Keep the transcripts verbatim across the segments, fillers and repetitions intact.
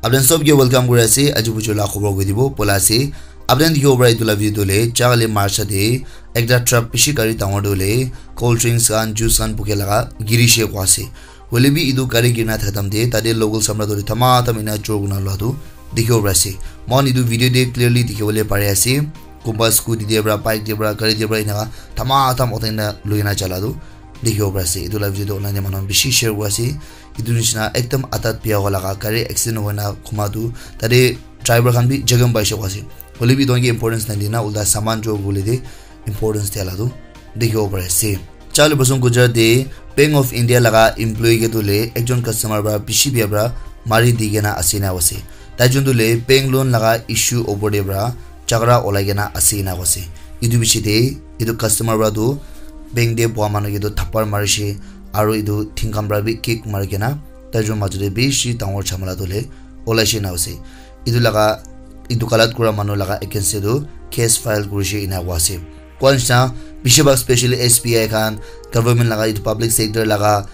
Apni sob ke welcome kuri ase. Aji bujo la khobor koi dibo pola ase. Apni dikhibo para etu la video tu le, jagale March te ekta truck bishi gari dangor tu le, cold drinks khan, juice khan buke laga giri she kwa ase. Hoile bi etu gari girina thaka time te, tate local samra tu le thama tham ena chor kurina lua tu dikhibo para ase. Moikhan etu video te clearly dikhibole pari ase. Kunba scooty te para, bike te para, gari te para enaka thama tham uthai na loi na jala tu dikhibo pari ase. Etu la video tu online te manu khan bishi share kuri ase. Etu nishina ekdam adat bia howa laga, gari accident hoina khuma tu, tate driver khan bi jakham paishe koa ase. Hoile bi etu khan ke importance na dina, ulta saman chor kuribole te importance dia la tu dikhibo pari ase. Charlie Blossom Gujarat te Bank of India laga employee ke tu le ekjon customer para bishi bia para mari di kena ase na ase. Tai jun tu le bank loan laga issue opor te para jhagara olai kena ase ena koise. Etu bishi te etu customer para tu bank te boha manu ke tu thapar marishe, aru etu thing khan para bi kick mari kena tai jun majo te bishi dangor jhamala tu le olaishe na ase. Etu laga, etu galat kura manu laga against te tu case file kurishe ena koa ase. Koa nishina, bishi bhag specially S B I khan, government laga etu public sector laga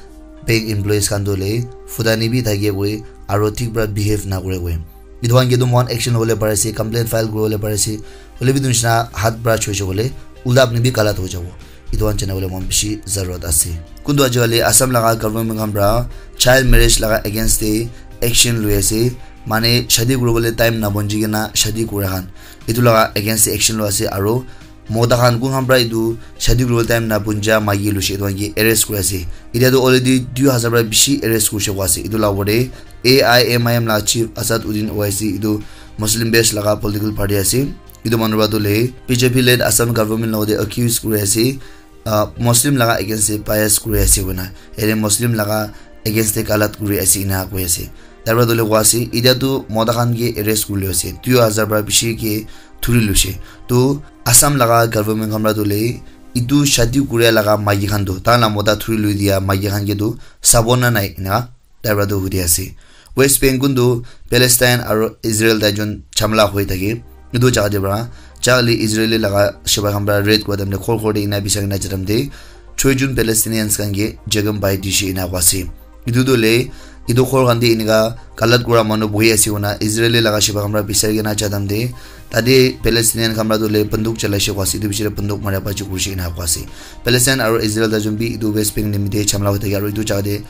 bank employees khan tu le futani bi thake koi, aru thik para behave na kure koi. Etu khan ke tu moikhan action lobole pari ase, complaint file kuribole pari ase. Hoile bi etu nishina hat para choishe koile, ulta apni bi galat ho jabo. Etu khan jana bole moikhan bishi zarurat ase. Kuntu ajikali Assam laga government khan para child marriage laga against te action loi ase. Mane shadi kuribole time na bonji kena shadi kura khan. Etu laga against te action loi ase aru mota khan kun khan para etu shadi kuribole time na bonja maiki loishe etu khan ke arrest kuri ase. Etia tu already dui hazar para bishi arrest kurishe koa ase. Etu la opor te A I M I M la chief Asad Uddin Owaisi, etu Muslim based laga political party ase. Etu manu para tu le B J P led Assam government logote accuse kuri ase, ah, Muslim laga against te bias kuri ase koina. Ere Muslim laga against te galat kuri ase ena koi ase. Tar para tu le koa ase, etia tu mota khan ke arrest kuri loi ase. Dui hazar para bishi ke thuri loishe. Tu Assam laga government khan para tu le etu shadi kuria laga maiki khan tu, tai la mota thuri loi dia maiki khan ke tu sabo na nai ena tai para tu hudi ase. West Bank kun tu Palestine aru Israel tai jun jhamla hoi thake. Etu jaga te para, jagale Israeli laga sipai khan para raid kura time te ghor ghor te ena bisai kena ja time te, choi jun Palestinians khan ke jakham pai dishe ena koa ase. Etu tu le, etu ghor khan te eneka galat kura manu bohi ase koina Israeli laga sipai khan para bisai kena ja time te, tate Palestinian khan para tu le banduk chalaishe koa ase, etu bishi te banduk mara baji kurishe ena koa ase. Palestine aru Israel tai jun bi etu West Bank nimite jhamla hoi thake aru etu jaga te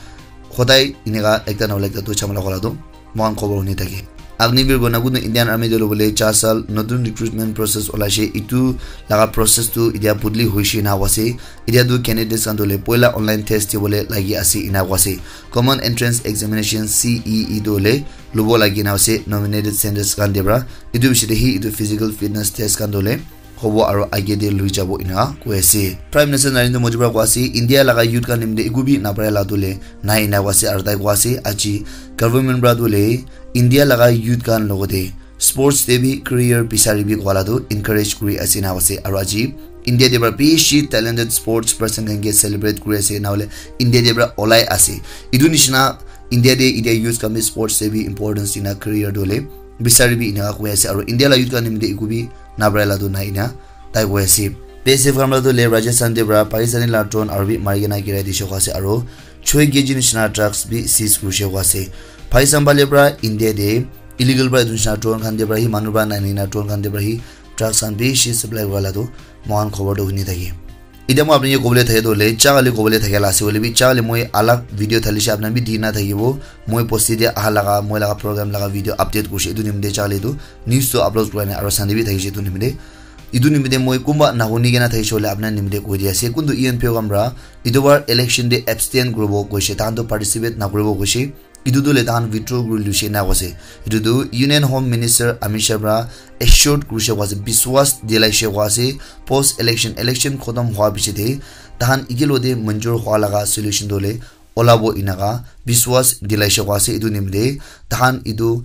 hodai eneka ekta na hoile ekta tu jhamla hola tu moikhan khobor huni thake. Agniveer Gonakund Indian Army te lobole char sal notun recruitment process olaishe, etu laga process tu etia bodli hoishe ena koa ase. Etia tu candidates khan tu le poila online test dibole lagi ase ena koa ase. Common Entrance Examination C E E tu le lobo lagi na ase nominated centers khan te para. Etu bishi te hi etu physical fitness test khan tu le hobo aru age te lui jabo ena koi ase. Prime Minister Narendra Modi para koi ase, India laga youth khan nimite eku bi napare la tu le nai ena koi ase aru tai koi ase aji government para tu le India laga youth khan logote sports te bi career bisari bi koa la tu encourage kuri ase ena koi ase aru aji India te para bishi talented sports person khan ke celebrate kuri ase na hoile India te para olai ase. Etu nishina India te etia youth khan bi sports te bi importance dina career tu le bisari bi ena koi ase aru India la youth khan nimite eku bi napare la tu nai ena tai koi ase. B S F khan para tu le Rajasthan te para Pakistani la drone aru bi mari kena girai dishe koi ase aru choi K G nishina drugs bi seize kurishe koi ase. Pakistan phale para India te illegal para etu nishina drone khan te para hi manu para nai nai na drone khan te para hi drugs khan bishi supply kura la tu moikhan khobor tu huni thake. Etia moi apni ke kobole thake tu le jagale kobole thake la ase hoile bi jagale moi alag video thalishe apni bi dina thakibo. Moi bosti te aha laga moi laga program laga video update kurishe etu nimite jagale tu news tu upload kura nai aru Sunday bi thakishe etu nimite. Etu nimite moi kunba nahuni kena thakishe hoile apni nimite koi di ase. Kuntu E N P O khan para etu bar election te abstain kuribo koishe, tahan tu participate nakuribo koishe. Etu tu le tahan withdraw kuri luishe na koise. Etu tu Union Home Minister Amit Shah para assured kurishe koa ase, biswas dilaishe koa ase, post election, election khotom hwa piche te tahan ekelogte manjur hwa laga solution tu le olabo enaka biswas dilaishe koa ase. Etu nimite tahan etu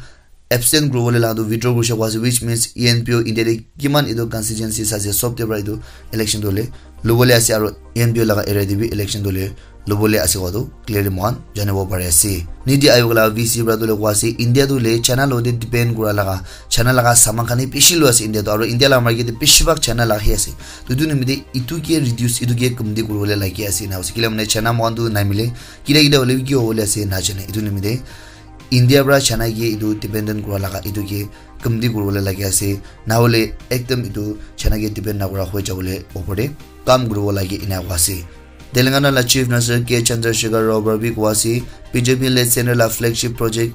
abstain kuribole laga tu withdraw kurishe koa ase, which means E N P O India te kiman etu constituencies ase sob te para etu election tu le lobole ase, aru E N P O laga area te bi election tu le lobole ase koa tu clearly moikhan janibo pari ase. Niti Aayog laga V C para tu le koa ase, India tu le China logte depend kura laga, China laga saman khan he bishi loi ase India tu, aru India laga market te bishi bhag China laga he ase. To etu nimite etu ke reduce, etu ke kamti kuribole lagi ase ena koise. Kile mane China moikhan tu namile, kile kile hoile bi ki hobole ase najane. Etu nimite India pra China ke etu dependent kura laga etu ke kamti kuribole lagi ase, nahole ekdam etu China ke depend nakura hoi jabole opor te kam kuribo lagi ena koa ase. Telangana la Chief Minister K Chandrasekhar Rao para bi koa ase, B J P led center la flagship project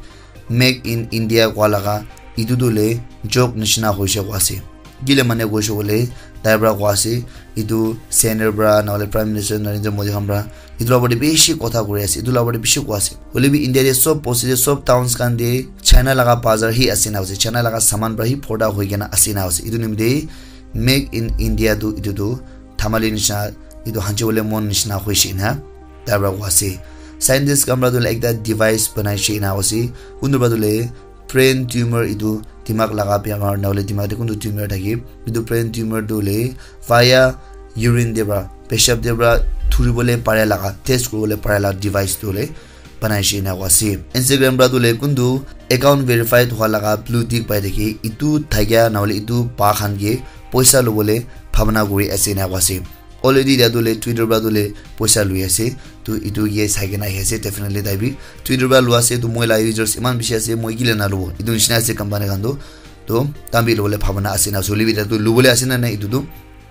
Make in India koa laga etu tu le joke nishina hoise koa ase. Kile mane koise koile tai para koa ase, etu center para nahole Prime Minister Narendra Modi khan para etu la opor te bishi kotha kuri ase, etu la opor te bishi koa ase. Hoile bi India te sob bosti te sob towns khan te China laga bazar hi ase na ase, China laga saman para hi bhorta hoi kena ase na ase. Etu nimite Make in India tu etu tu dhamali nishina, etu hanchi bole mon nishina hoise na tai para koa ase. Scientist khan para tu ekta device banai she na ase, kuntu para tu le brain tumor etu dimag laga bemar nahole dimag te kuntu tumor thake, etu brain tumor tu le via urine te para, peshab te para thuri bole pare laga, test kuri bole pare laga device tu le banai she na koa ase. Instagram para tu le kuntu account verified hua laga blue tick pai thake, etu thakia nahole etu pa khan ke poisa lobole bhabana kuri ase na koa ase. Already dia tu le Twitter para tu le poisa lui ase. Tu etu ke sai kena ahi ase, definitely tai bi Twitter para lua ase. Tu moi la users iman bishi ase, moi kile na lobo. Etu nishina ase company khan tu. Tu tam bi lobole bhabana ase na, suli bi dia tu lobole ase na nai etu tu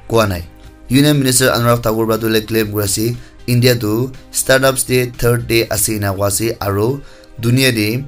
koa nai. Union Minister Anurag Thakur para tu le claim kuri ase, India tu startups te third te ase ena koa ase, aro dunia te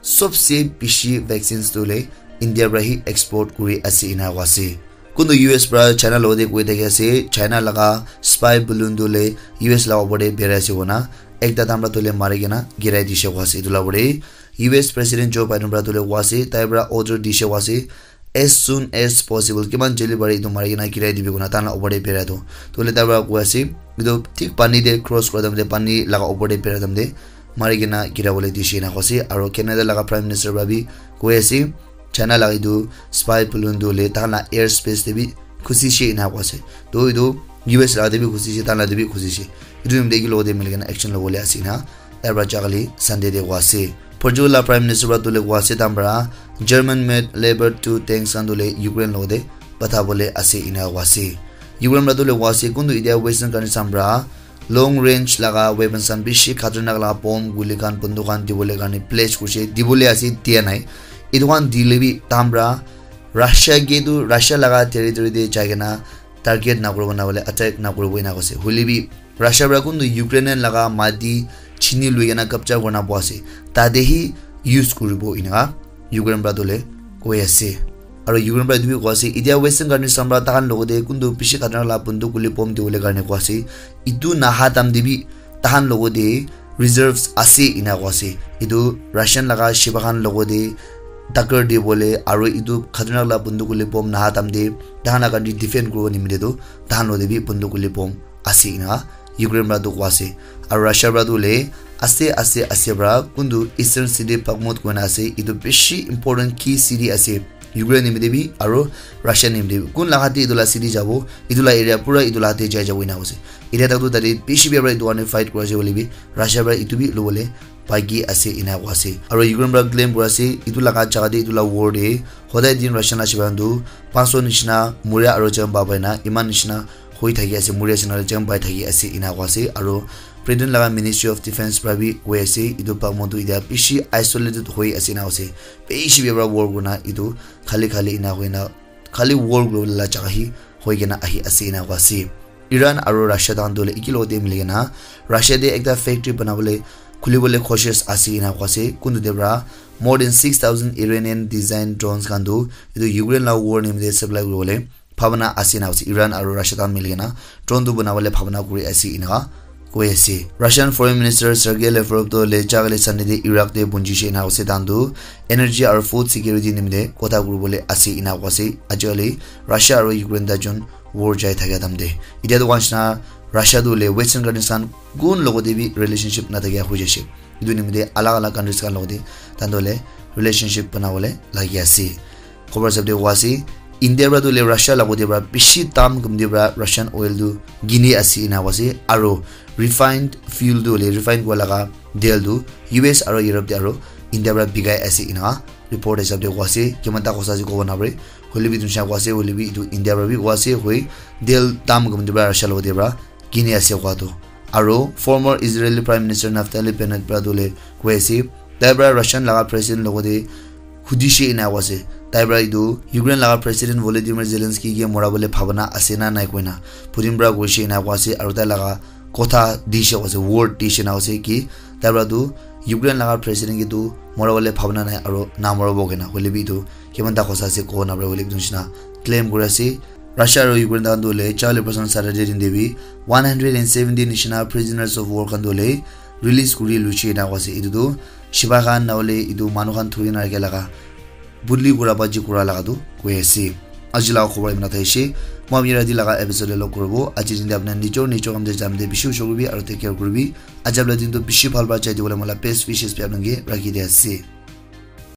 sobse bishi vaccines tu le India para hi export kuri ase ena koa ase. Kuntu U S para China logote koi thaki ase, China laga spy balloon tu le U S laga opor te berai ase koina ekta dam para tu le mari kena girai dise koa ase. Etu laga opor te U S President Joe Biden para tu le koa ase, tai para order dise koa ase, as soon as possible, kiman joldi pare etu mari kena girai dibi koina tai laga opor te berai tu. Tu le tai para koi ase, etu thik pani te cross kura time te, pani laga opor te berai time te mari kena girai bole dise ena koa ase. Aro Canada laga Prime Minister para bi koi ase, China laga etu spy balloon tu le tai laga air space te bi khusi she ena koa ase. Tu etu U S laga te bi khusi she, tai laga te bi khusi she. Etu nimite eki logote mili kena action lobole ase ena tai para jagale Sunday te koa ase. Portugal la Prime Minister para tu le koa ase, tai para German made Leopard two tanks khan tu le Ukraine logote patha bole ase ena koa ase. Ukraine para tu le koa ase, kuntu etia Western countries khan para long range laga weapons khan bishi khatarnak laga bomb, guli khan, bunduk khan dibole karne pledge kurise, dibole ase, dia nai. Etu khan dile bi tai para Russia ke tu Russia laga territory te jai kena target nakuribo nahole attack nakuribo ena koise. Hoile bi Russia para kuntu Ukrainian laga mati chini lui kena capture kurina boha ase, tate hi use kuribo eneka Ukraine para tu le koi ase. Aro Ukraine para etu bi koi ase, etia Western countries khan para tahan logote kuntu bishi khatarnak laga bunduk guli bomb dibole karne koi ase. Etu naha time te bi tahan logote reserves ase ena koi ase. Etu Russian laga shiba khan logote taker dibole aro etu khatarnak laga bunduk guli bomb naha time te tahan laga country defend kuribo nimite tu tahan logote bi bunduk guli bomb ase ena Ukraine para tu koi ase. Aro Russia para tu le aste aste aste para kuntu eastern city Bakhmut koina ase, etu bishi important key city ase Ukraine nimite bi aro Russia nimite bi. Kun laga te etu laga city jabo, etu laga area pura etu laga te jai jabo ena koise. Etia tak tu tate bishi bia para etu karne fight kuri ase hoile bi Russia para etu bi lobole baki ase ena koi ase. Aro Ukraine para claim kuri ase etu laga jaga te etu laga war te hodai din Russian laga shiba khan tu panch so nishina muria aro jam pai na eman nishina hoi thaki ase, muri ase, nahole jam pai thaki ase, ena koi ase. Aro Britain laga Ministry of Defence para bi koi ase, etu Bakhmut tu etia bishi isolated hoi ase, ena koi ase. Bishi bia para war kurina etu khali khali ena hoina, khali war kuribole la jaga hi hoi kena ahi ase, ena koi ase. Iran aro Russia tahan tu hoile eki logote mili kena Russia te ekta factory banabole, khulibole cautious ase, ena koi ase. Kuntu te para more than six thousand Iranian design drones khan tu etu Ukraine laga war nimite supply kuribole bhabana ase ena koi ase. Iran aro Russia tahan mili kena drone tu banabole bhabana kuri ase eneka koi ase. Russian Foreign Minister Sergei Lavrov tu le jagale Sunday te Iraq te punji she ena koi ase. Tahan tu energy aro food security nimite kotha kuribole ase ena koi ase. Ajikali Russia aro Ukraine ta jun war jai thakia time te, etia tu koa nishina Russia tu le Western countries khan kun logote bi relationship nathakia hoi jaise. Etu nimite alag alag countries khan logote tahan tu le relationship banabole lagi ase. Khobor hisab te koi ase, India para tu le Russia logote para bishi dam kamti para Russian oil tu kini ase ena koi ase, aro refined fuel tu le refined kura laga tel tu U S aro Europe te aro India para bikai ase ena report hisab te koi ase. Kiman ta hosa ase kobo napare, hoile bi etu nishina koi ase, hoile bi etu India para bi koi ase, hoi tel dam kamti para Russia logote para kini ase koa tu. Aro former Israeli Prime Minister Naftali Bennett para tu le koi ase, Tai para Russian laga president logote hudishe ena koise, tai para etu Ukraine laga president Volodymyr Zelensky ke mora bole bhabana ase na nai koina Putin para koishe ena koa ase, aru tai laga kotha dishe koise, word dishe na koise ki tai para tu Ukraine laga president ke tu mora bole bhabana nai aru na mora bo kena, hoile bi tu kiman ta khosa ase ko na para, hoile bi tu nishina claim kuri ase. Russia aru Ukraine khan tu hoile charli person Saturday din te bi one hundred and seventy nishina prisoners of war khan tu hoile release kuri luchi ena koa ase. Etu tu shiba khan na hoile etu manu khan thuri na rakha laga budli kura baji kura laga tu koi ase. Aji laga khobor imna thaishe. Moi apni rati laga episode log koribo. Aji din te apni nijor nijor kam te jam te bishi ushor kuribi aru take care kuribi. Aji apni din tu bishi bhal bhal chai dibole mola best wishes bi apni ke rakhi di ase.